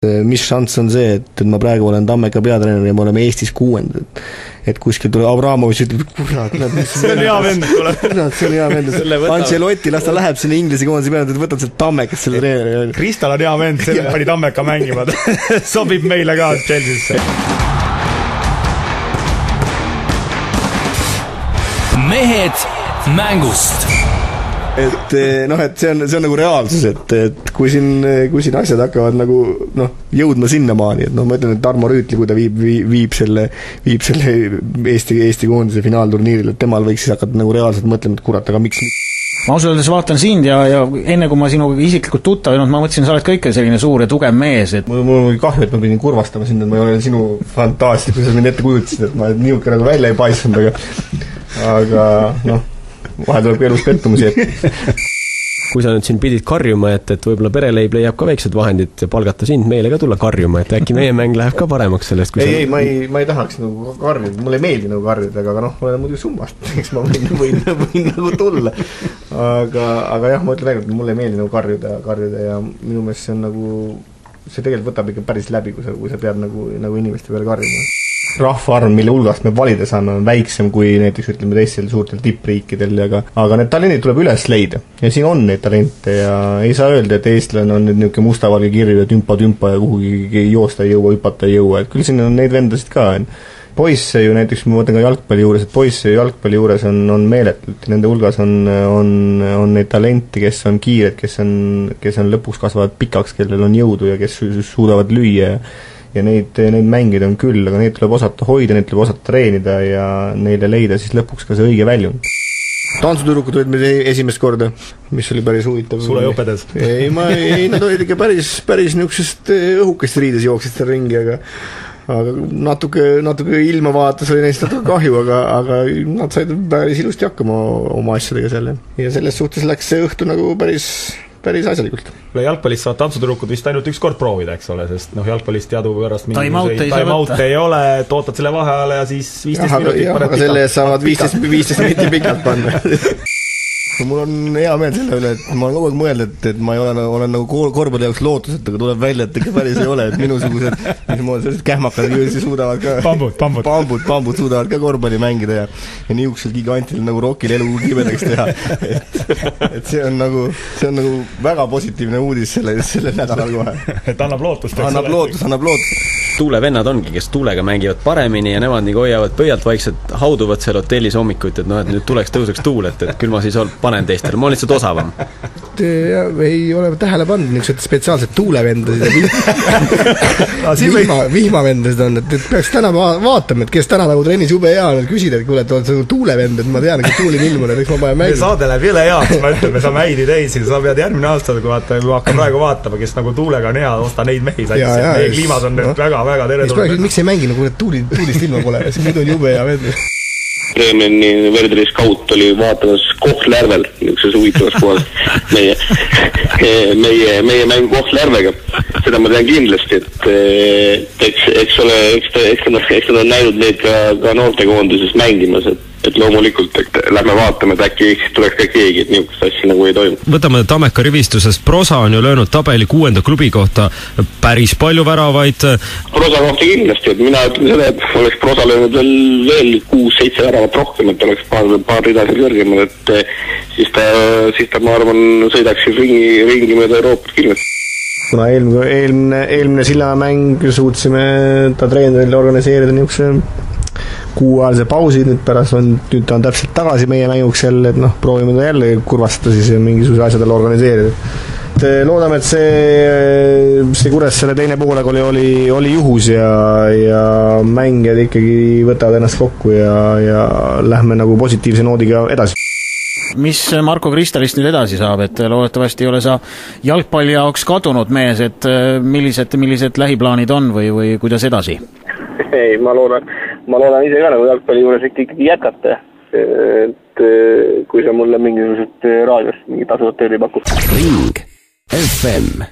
Mis šanss on see, et ma praegu olen Tammeka peatreener ja me oleme Eestis 6. Et kuskil tuleb Abramovitš ütleb, kurat, see on hea vend, see on hea vend. Ancelotti, las ta läheb sinna Inglise koondise peale, et võtad sealt Tammekast selle treeneri. Kristal on hea vend, see pani Tammeka mängima. Sobib meile ka Chelsea'sse. Mehed mängust. Et see on nagu reaalsus, et kui siin asjad hakkavad nagu jõudma sinnamaani, et ma ütlen, et Tarmo Rüütli, kui ta viib selle Eesti koondise finaalturniiril, et temal võiks siis hakata nagu reaalselt mõtlema, et kurat, aga miks? Ma ausalt öeldes vaatan sind ja enne kui ma sinuga isiklikult tuttav olnud, ma mõtlesin, sa oled ka ikka selline suur ja tugev mees. Et mul on kahju, et ma pidin kurvastama sind, et ma ei ole sinu fantaastia, kui sa mind ette kujutasid, et ma niuke nagu välja ei paisanud, aga vahel tuleb elus pettumusi, kui sa nüüd siin pidid karjuma, et võib-olla pereleib leiab ka väiksed vahendid ja palgata sind meile ka tulla karjuma, et äkki meie mäng läheb ka paremaks sellest, kui ei, ma ei tahaks nagu karjida, mulle ei meeldi nagu karjida, aga olen muidu summast, eks ma võin nagu tulla, aga jah, ma ütlen väga, et mulle ei meeldi nagu karjida ja minu meelest see on nagu, see tegelikult võtab ikka päris läbi, kui sa pead nagu inimeste peale karjuma. Rahvaarv, mille hulgast me valida saame, on väiksem kui näiteks ütleme teistel suurtel tippriikidel, aga need talendid tuleb üles leida ja siin on neid talente ja ei saa öelda, et eestlane on nüüd niisugune mustavalge kirju ja tümpa ja kuhugi joosta ei jõua, hüpata ei jõua, et küll siin on neid vendasid ka. Poisse ju näiteks, ma mõtlen ka jalgpalli juures, et poisse jalgpalli juures on meeletult, nende hulgas on neid talenti, kes on kiired, kes on lõpuks kasvavad pikaks, kellel on jõudu ja kes suudavad lüüa ja neid mängida on küll, aga neid tuleb osata hoida, neid tuleb osata treenida ja neile leida siis lõpuks ka see õige väljund. Tantsutüdrukud olid meil esimest korda, mis oli päris huvitav. Sulle ei õpetas? Ei, nad olid ikka päris niisugusest õhukest riides jooksist seal ringi, aga natuke ilma vaatas oli neist natuke kahju, aga nad said päris ilusti hakkama oma asjadega selle. Ja selles suhtes läks see õhtu nagu päris asjalikult. Jalgpallist saavad tantsutüdrukud vist ainult üks kord proovida, eks ole, sest jalgpallist teadupärast time-out ei ole, tootad selle vaheajale ja siis 15 minutit paned pikalt. Selle eest saavad 15 minutit pikalt panna. Mul on hea meel selle üle, et ma olen kogu aeg mõelnud, et ma olen nagu korvpalli jaoks lootused, aga tuleb välja, et ikka päris ei ole, et minusugused sellised kähmakad jõusi suudavad ka pambud suudavad ka korvpalli mängida ja niisugusel gigantil nagu Rokil elu kibedaks teha. Et see on nagu väga positiivne uudis selle nädalal kohe. Et annab lootust. Annab lootust. Tuulevennad ongi, kes tuulega mängivad paremini ja nemad nii hoiavad pöialt vaikselt, hauduvad seal hotellis hommikuid, et et nüüd tõuseks tuul, et küll ma siis panen teistele, ma olen lihtsalt osavam. Ei ole tähele pannud niisugused spetsiaalsed tuulevendasid ja vihmavendasid on, et peaks täna vaatama, et kes täna nagu trennis jube hea on, et küsida, et kuule, et oled tuulevend, et ma tean, et tuuli ilmune, eks ma panen mängima. Saade läheb jõle heaks, ma ütlen, me saame häid ideid, sa pead järgmine aasta, kui hakkan praegu vaatama, kes nagu tuulega on hea, osta neid mehi satsi, meie kliimas on nüüd väga teretulnud. Miks ei mängi, nagu tuulist ilma pole, nüüd on jube hea vend. Breemeni Verderi skaut oli vaatamas Kohtla-Järvel, niisuguses huvitavas kohas meie mängu Kohtla-Järvega. Seda ma tean kindlasti, et eks nad on näinud neid ka noortekoondises mängimas, et loomulikult, et lähme vaatame, et äkki tuleks ka keegi, et niisugust asja nagu ei toimu. Võtame Tammeka rivistuses, Prosa on ju löönud tabeli 6. klubi kohta päris palju väravaid. Prosa kohta kindlasti, et mina ütlen seda, et oleks Prosa löönud veel 6-7 väravat rohkem, et oleks paar ridasid kõrgemal, et siis ta ma arvan, sõidaks ringi mööda Euroopat kindlasti. Kuna eelmine Sillamäng suutsime ta treenerile organiseerida niisuguse kuuajalise pausi, nüüd ta on täpselt tagasi meie mänguks jälle, et proovime ta jälle kurvastada siis ja mingisuguse asjadele organiseerida. Loodame, et see Kuressaare teine poolega oli juhus ja mängijad ikkagi võtavad ennast kokku ja lähme nagu positiivse noodiga edasi. Mis Marko Kristalist nüüd edasi saab, et loodetavasti ei ole sa jalgpalli jaoks kadunud mees, et millised lähiplaanid on või kuidas edasi? Ei, ma loodan ise ka nagu jalgpalli juures ikkagi jätkata, et kui sa mulle mingisugused raadiost mingi tasuvat tööd ei paku. Ring FM